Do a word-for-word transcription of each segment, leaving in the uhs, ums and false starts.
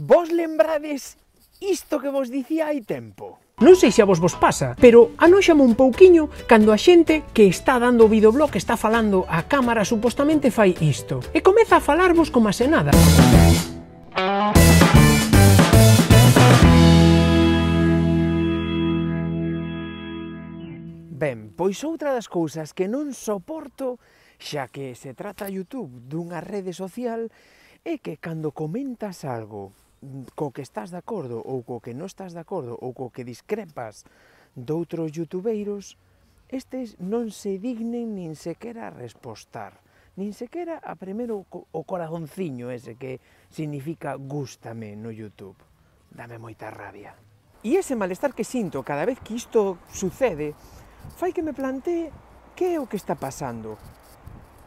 Vos lembrades isto que vos dicía hai tempo? Non sei se a vos vos pasa, pero anóxame un pouquiño cando a xente que está dando o videoblog, que está falando a cámara, supostamente fai isto, e comeza a falarvos como se nada. Ben, pois outra das cousas que non soporto, xa que se trata YouTube dunha rede social, é que cando comentas algo co que estás de acordo ou co que non estás de acordo ou co que discrepas doutros youtubeiros, estes non se dignen nin sequera a respostar, nin sequera a primeiro o corazonciño ese que significa gústame no YouTube. Dame moita rabia. E ese malestar que sinto cada vez que isto sucede fai que me plantee que é o que está pasando.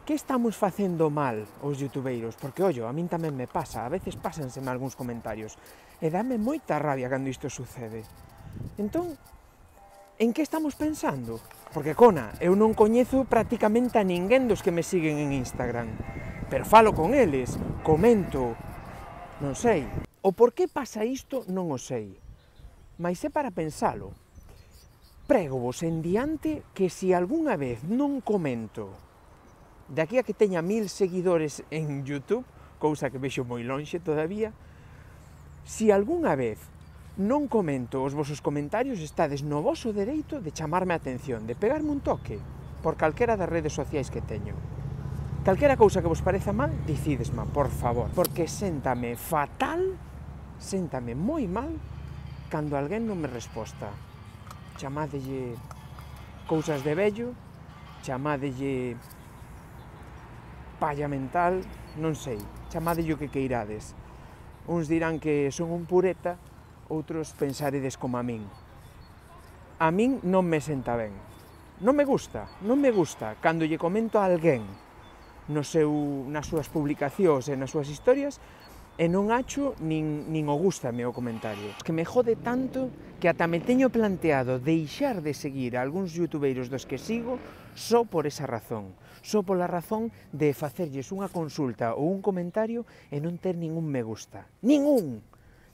Que estamos facendo mal os youtubeiros? Porque, ollo, a min tamén me pasa, a veces pásanseme algúns comentarios, e dame moita rabia cando isto sucede. Entón, en que estamos pensando? Porque, cona, eu non coñezo prácticamente a ninguén dos que me siguen en Instagram, pero falo con eles, comento, non sei. O por que pasa isto non o sei, mais é para pensalo. Prégovos en diante que se algunha vez non comento, de aquí a que teña mil seguidores en YouTube, cousa que vexo moi lonxe todavía, se algunha vez non comento os vosos comentarios, estades no voso dereito de chamarme a atención, de pegarme un toque, por calquera das redes sociais que teño. Calquera cousa que vos pareza mal, dicidesma, por favor, porque séntame fatal, séntame moi mal, cando alguén non me resposta. Chamádelle cousas de vello, chamádelle palla mental, non sei, chamádelle o que queirades. Uns dirán que son un pureta, outros pensaredes como a min. A min non me senta ben. Non me gusta, non me gusta, cando lle comento a alguén no seu, nas súas publicacións e nas súas historias, e non acho nin, nin o gústame o comentario. Que me jode tanto que ata me teño planteado deixar de seguir a algúns youtubeiros dos que sigo só por esa razón. Só pola razón de facerlles unha consulta ou un comentario e non ter ningún me gusta. Ningún!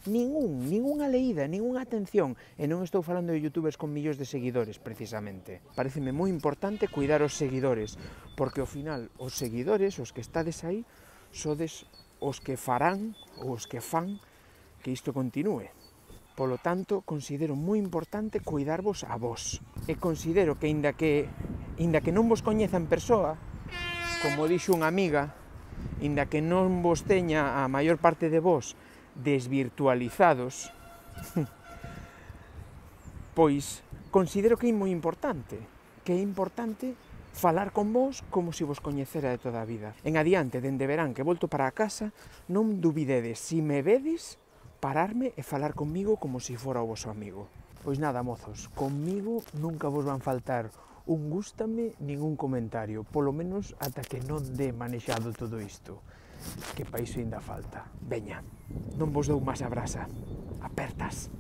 Ningún, ningunha leída, ningunha atención. E non estou falando de youtubers con millóns de seguidores, precisamente. Pareceme moi importante cuidar os seguidores, porque ao final os seguidores, os que estades aí, sodes os que farán ou os que fan que isto continúe. Polo tanto, considero moi importante cuidarvos a vos. E considero que, inda que, inda que non vos coñeza en persoa, como dixo unha amiga, inda que non vos teña a maior parte de vos desvirtualizados, pois considero que é moi importante, que é importante falar con vos como se vos coñecera de toda a vida. En adiante, dende verán que volto para a casa, non dubidedes, se me vedes, pararme e falar comigo como se fora o voso amigo. Pois nada, mozos, comigo nunca vos van faltar un gústame nin un comentario, polo menos ata que non dé manexado todo isto, que pa iso ainda falta. Veña, non vos dou máis a brasa, apertas.